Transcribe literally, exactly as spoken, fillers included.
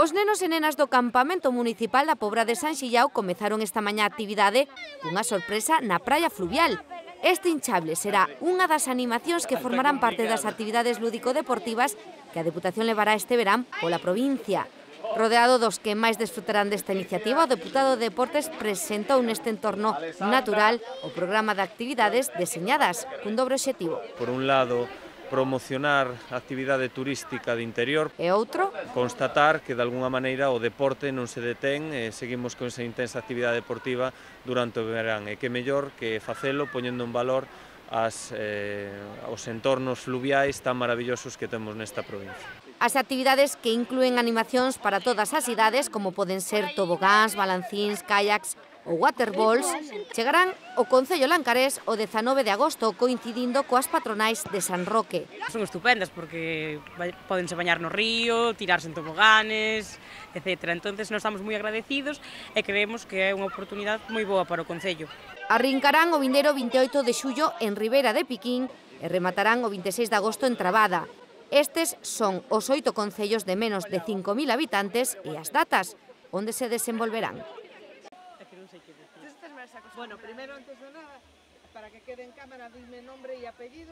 Os nenos e nenas do campamento municipal da Pobra de San Xillao comezaron esta mañá a actividade cunha sorpresa na praia fluvial. Este hinchable será unha das animacións que formarán parte das actividades lúdico-deportivas que a Deputación levará este verán pola provincia. Rodeado dos que máis desfrutarán desta iniciativa, o deputado de Deportes presentou neste entorno natural o programa de actividades deseñadas cun dobre obxectivo. Por un lado, promocionar a actividade turística de interior. E outro? Constatar que, de alguna maneira, o deporte non se detén e seguimos con esa intensa actividade deportiva durante o verán. E que mellor que facelo poñendo en valor as, eh, os entornos fluviais tan maravillosos que temos nesta provincia. As actividades que inclúen animacións para todas as idades, como poden ser tobogáns, balancíns, kayaks ou waterballs, chegarán ao Concello Lancarés o dezanove de agosto, coincidindo coas patronais de San Roque. Son estupendas porque podense bañar no río, tirarse en toboganes, etcétera. Entonces, nós estamos moi agradecidos e creemos que é unha oportunidade moi boa para o Concello. Arrincarán o vindeiro vinte e oito de xullo en Ribera de Piquín e rematarán o vinte e seis de agosto en Trabada. Estes son os oito concellos de menos de cinco mil habitantes e as datas onde se desenvolverán. Bueno, primero, antes de nada, para que quede en cámara, dime nombre y apellido.